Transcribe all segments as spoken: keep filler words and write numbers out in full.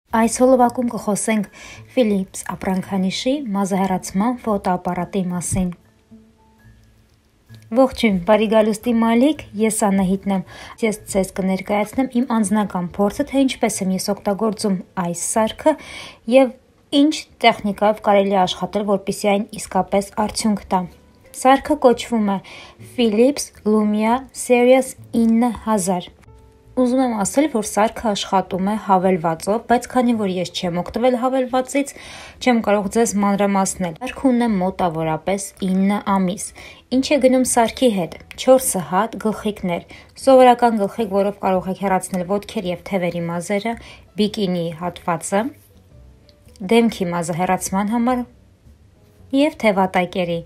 Այս հոլովակում կխոսենք Philips ապրանքանիշի մազահեռացման ֆոտոապարատի մասին։ Ողջույն, բարի գալուստի մալիք, ես Անահիտն եմ։ Ես ձեզ կներկայացնեմ իմ անձնական փորձը, թե ինչպես եմ ես օգտագործում այս սարքը եւ ինչ տեխնիկայով կարելի է աշխատել, որպեսզի այն իսկապես արդյունք տա։ Սարքը կոչվում է Philips Lumia Series ինը հազար։ Ուզում եմ ասել, որ սարքը աշխատում է հավելվածով, բայց քանի որ ես չեմ օգտվել հավելվածից, չեմ կարող ձեզ մանրամասնել։ Սարքը ունեմ մոտավորապես ինը ամիս։ Ինչ է գնում սարքի հետ։ չորս հատ գլխիկներ, սովորական գլխիկ, որով կարող եք հեռացնել ոտքեր եւ թևերի մազերը, բիկինի հատվածը, դեմքի մազը հեռացման համար եւ թևատակերի։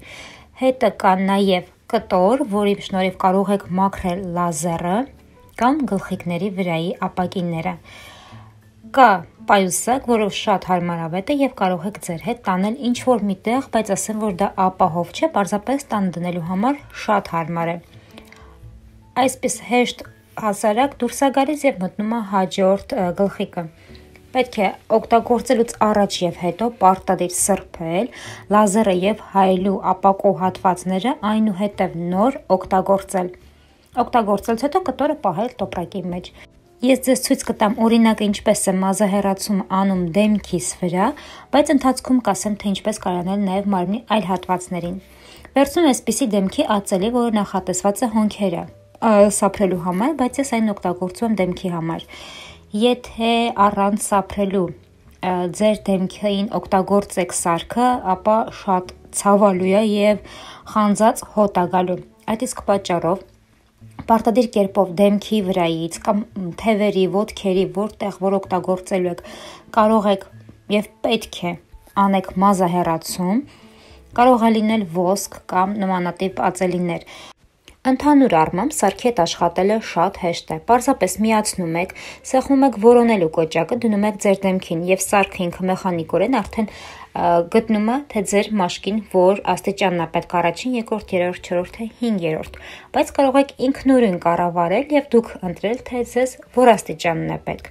Հետը կա նաեւ կտոր, որի շնորհիվ կարող եք մաքրել լազերը կամ գլխիկների վրայի ապակիները։ Կա պայուսակ, որով շատ հարմարավետ է եւ կարող եք ձեր հետ տանել ինչ-որ միտեղ, բայց ասեմ, որ դա ապահով չէ, պարզապես տան դնելու համար շատ հարմար է։ Այսպես հեշտ հասարակ դուրս է գալիս եւ մտնում է հաջորդ գլխիկը։ Պետք է օգտագործելուց առաջ եւ հետո պարտադիր սրբել լազերը եւ հայելու ապակու հատվածները, այնուհետեւ նոր օգտագործել։ Օգտագործելուց հետո կտորը պահել տոպրակի մեջ։ Ես ձեզ ցույց կտամ օրինակ ինչպես է մազահեռացում անում դեմքիս վրա, բայց ընթացքում կասեմ, թե ինչպես կարողանալ նաեւ մարմնի այլ հատվածներին։ Վերցնում եմ այսպիսի դեմքի ածելի, որը նախատեսված է հոնքերը սափրելու համար, բայց ես այն օգտագործում եմ դեմքի համար։ Եթե առանց սափրելու ձեր դեմքին օգտագործեք սարքը, ապա շատ ցավալու է եւ խանձած հոտ է գալու։ Այդ իսկ պատճառով պարտադիր կերպով դեմքի վրայից կամ թևերի, ոտքերի, որտեղ որ օգտագործելու եք, կարող եք եւ պետք է անեք մազահեռացում, կարող է լինել ոսկ կամ նմանատիպ ածելիներ։ Ընդհանուր առմամբ սարքի հետ աշխատելը շատ հեշտ է։ Պարզապես միացնում եք, սեղմում եք որոնելու կոճակը, դնում եք ձեր դեմքին եւ սարքը ինքը մեխանիկորեն արդեն գտնում է, թե ձեր մաշկին որ աստիճանն է պետք առաջին, երկրորդ, երրորդ, չորրորդ, թե հինգերորդ։ Բայց կարող եք ինքնուրույն կառավարել եւ դուք ընտրել, թե ձեզ որ աստիճանն է պետք։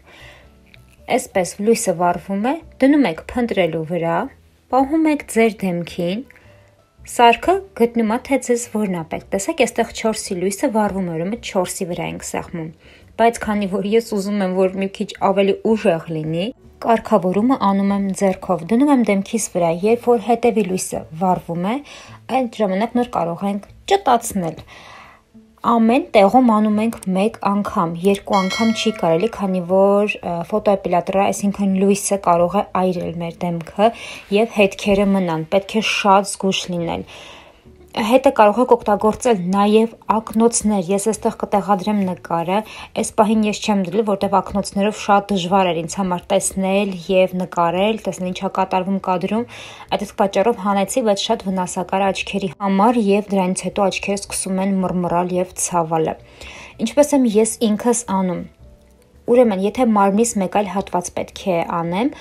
Այսպես լույսը վառվում է, դնում եք փնտրելու վրա, պահում եք ձեր դեմքին, սարքը գտնում է, թե ձեզ որն է պետք։ Տեսեք, այստեղ չորսի լույսը վառվում է, ուրեմն չորսի վրա ենք սեղմում։ Բայց քանի որ ես ուզում եմ, որ մի քիչ ավելի ուժեղ լինի, կարգավորումը անում եմ ձեռքով, դնում եմ դեմքիս վրա, երբ որ հետևի լույսը վառվում է, այդ ժամանակ նոր կարող ենք ճտացնել։ Ամեն տեղում անում ենք մեկ անգամ, երկու անգամ չի կարելի, քանի որ ֆոտոէպիլատորը, այսինքն լույսը կարող է այրել մեր դեմքը եւ հետքերը մնան, պետք է շատ զգույշ լինել։ Հետը կարող եք օգտագործել նաև ակնոցներ, ես այստեղ կտեղադրեմ նկարը, այս պահին ես չեմ դրել, որտեղ ակնոցներով շատ դժվար էր ինձ համար տեսնել եւ նկարել, տեսնել ինչա կատարվում կադրում, այդ իսկ պատճառով հանեցի, բայց շատ վնասակար է աչքերի համար եւ դրանից հետո աչքերը սկսում են մռմռալ եւ ցավալը։ Ինչպես եմ ես ինքս անում։ Ուրեմն, եթե մարմնիս մեկ այլ հատված պետք է անեմ,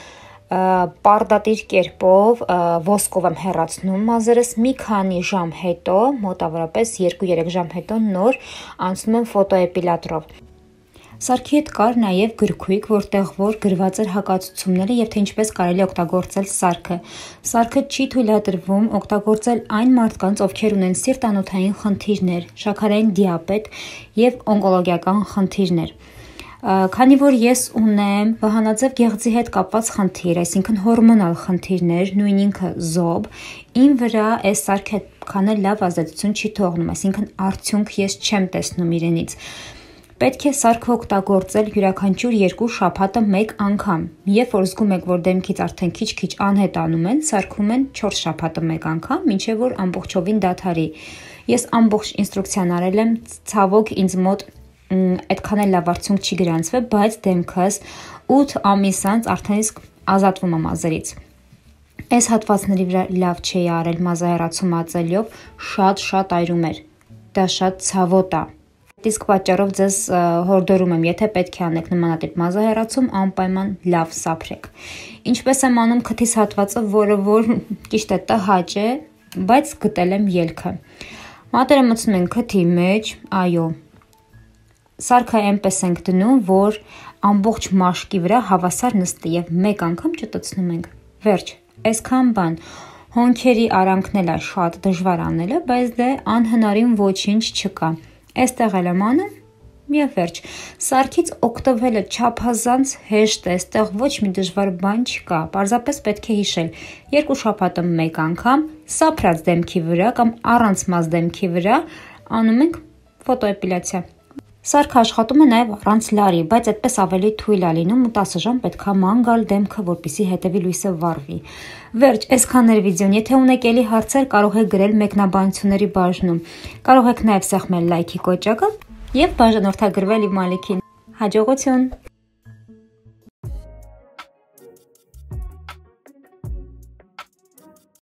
պարտադիր կերպով ոսկով եմ հեռացնում մազերս, մի քանի ժամ հետո, մոտավորապես երկու-երեք ժամ հետո նոր անցնում եմ ֆոտոէպիլատորով։ Սարքի հետ կար նաև գրքույկ, որտեղ որ գրված էր հակացությունները եւ թե ինչպես կարելի օգտագործել սարքը։ Սարքը չի թույլատրվում օգտագործել այն մարդկանց, ովքեր ունեն սիրտանոթային խնդիրներ, շաքարային դիաբետ եւ օնկոլոգիական խնդիրներ։ Քանի որ ես ունեմ վահանաձև գեղձի հետ կապված խնդիր, այսինքն հորմոնալ խնդիրներ, նույն ինքը զոբ, իմ վրա այս սարքը քանը լավ ազդեցություն չի թողնում, այսինքն արդյունք ես չեմ տեսնում իրենից։ Պետք է սարքը օգտագործել յուրաքանչյուր երկու շաբաթը մեկ անգամ։ Երբ որ զգում եք, որ դեմքից արդեն քիչ-քիչ անհետանում են, սարքում են չորս շաբաթը մեկ անգամ, մինչև որ ամբողջովին դադարի։ Ես ամբողջ ինստրուկցիան արել եմ, ցավոք ինձ մոտ այդքան էլ լավ արդյունք չի գրանցվել, բայց դեմքս ութ ամիս անց արդեն իսկ ազատվում է մազերից։ Այս հատվածների վրա լավ չի արել մազահեռացում ածելիով, շատ-շատ այրում էր։ Դա շատ ցավոտ է։ Իսկ պատճառով ձեզ հորդորում եմ, եթե պետք է անեք նմանատիպ մազահեռացում, անպայման լավ սափրեք։ Ինչպես եմ անում քթիս հատվածը, որը որ ճիշտ է տհաճ է, բայց գտել եմ ելքը։ Մատերը մտցնում ենք քթի մեջ, այո։ Սարքը այնպես ենք դնում, որ ամբողջ մաշկի վրա հավասար նստի եւ մեկ անգամ ճտցնում ենք։ Վերջ, այսքան բան։ Հոնքերի արանքն էլ է շատ դժվար անելը, բայց դե անհնարին ոչինչ չկա։ Այստեղ էլ եմ անում եւ վերջ։ Սարքից օգտվելը չափազանց հեշտ է, այստեղ ոչ մի դժվար բան չկա։ Պարզապես պետք է հիշել երկու շաբաթը մեկ անգամ սափրած դեմքի վրա կամ առանց մազ դեմքի վրա անում ենք ֆոտոէպիլյացիա։ Սարքը աշխատում է նաև առանց լարի, բայց այդպես ավելի թույլ է լինում ու տասը ժամ պետքա ման գալ դեմքը, որպեսզի հետևի լույսը վառվի։ Վերջ, այսքան էր վիդեոն։ Եթե ունեք ելի հարցեր, կարող եք գրել մեկնաբանությունների բաժնում։ Կարող եք նաև սեղմել լայքի կոճակը եւ բաժանորդագրվել իմ ալիքին։ Հաջողություն։